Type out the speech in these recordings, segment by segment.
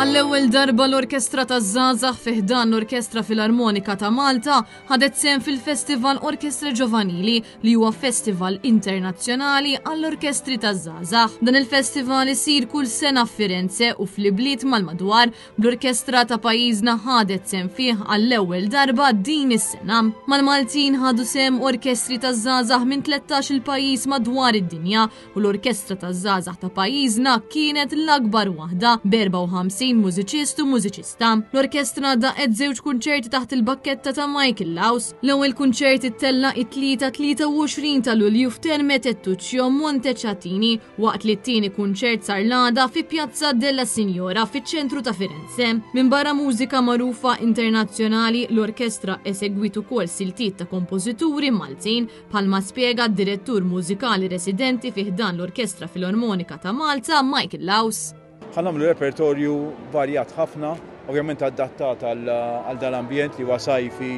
Għall-ewwel darba l-Orkestra taż-Żgħażagħ fi ħdan l-Orkestra Filarmonika ta' Malta ħadet sehem fil-Festival Orchestre Giovanili li huwa festival internazzjonali għall-orkestri taż-żgħażagħ. Dan il-festival isir kull sena f'Firenze u fl-ibliet mal-madwar Bl-orkestra ta' pajjiżna ħadet sehem fih għall-ewwel darba din is-sena. Mal-Maltin ħadu sehem orkestri taż-żgħażagħ minn 13-il pajjiż madwar id-dinja u l-orkestra taż-żgħażagħ ta' pajjiżna kienet l-akbar waħda b'54 mużiċist u mużiċista. L-orkestra daqet żewġ kunċerti taħt il-bakketta ta' Michael Laus. L-ewwel kunċert ittella' it-Tlieta 23 ta' Lulju f'Terme Tettuccio Montecatini waqt li t-tieni kunċert sar l-għada fi Piazza della Signora fiċ-ċentru ta' Firenze. Minbarra mużika magħrufa internazzjonali, l-orkestra esegwiet ukoll siltiet ta' kompożituri Maltin, bħalma spjega d-direttur mużikali residenti fi ħdan l-Orkestra Filormonika ta' Malta, Michael Laus. Ħa nagħmlu repertorju varjat ħafna, ovvjament adattat għal dal-ambjent li huwa sajfi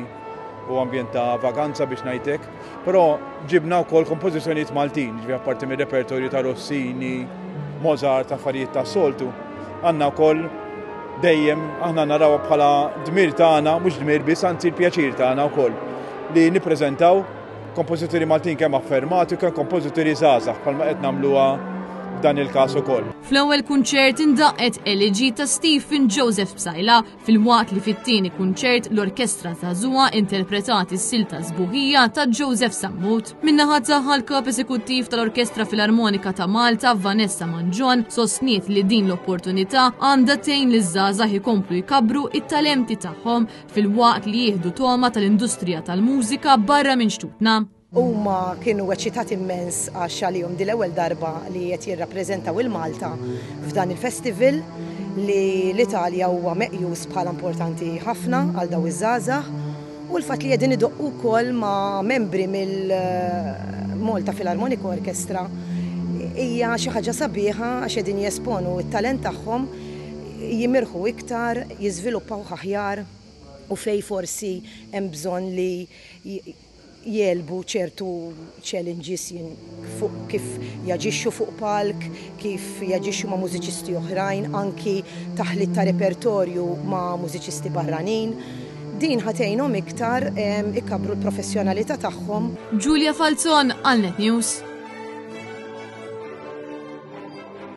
u ambjent ta' vaganza biex ngħid hekk. Però ġibna wkoll kompożizzjonijiet Maltin, ġifieri apparti mir-repertorju ta' Rossini, Mozart, affarijiet ta' soltu. Għandna wkoll dejjem aħna narawha bħala dmir tagħna, mhux dmir biss, anzi l-pjaċir tagħna wkoll li nippreżentaw Kompożituri Maltin kemm affermati u kemm kompożituri żgħażagħ bħalma qed nagħmluha f'dan il-każ ukoll. Fl-ewwel kunċert indaqqet Elegy ta' Stephen Joseph Psaila filwaqt li fit-tieni kunċert l-Orkestra Żagħżugħa interpretat is-silta Sbuħija ta' Joseph Sammut. Min-naħa tagħha l-Kap Eżekuttiv tal-Orkestra Filarmonika ta' Malta Vanessa Mangion sostniet li din l-opportunità għandha tgħin liż-żgħażagħ ikomplu jkabbru it-talenti tagħhom filwaqt li jieħdu togħma tal-industrija tal-mużika barra minn xtutna. Huma kienu eċitati immens għax għalihom din l-ewwel darba li qed jirrappreżentaw il-Malta f'dan il-festival li l-Italja huwa meqjus bħala importanti ħafna għal daw iż-żgħażagħ u l-fatt li qegħdin idoqqu wkoll ma' membri mill-Malta Philharmonic Orchestra hija xi ħaġa sabiħa għax qegħdin jesponu t-talent tagħhom jimirħu iktar, jiżviluppawh aħjar u fejn forsi hemm bżonn li jegħlbu ċertu challenges fuq kif jaġixxu fuq palk, kif jaġixxu ma' mużiċisti oħrajn, anki taħlit ta' repertorju ma' mużiċisti barranin. Din ħa tgħinhom iktar ikabbru l-professjonalità tagħhom. Julia Falzon għal Net News.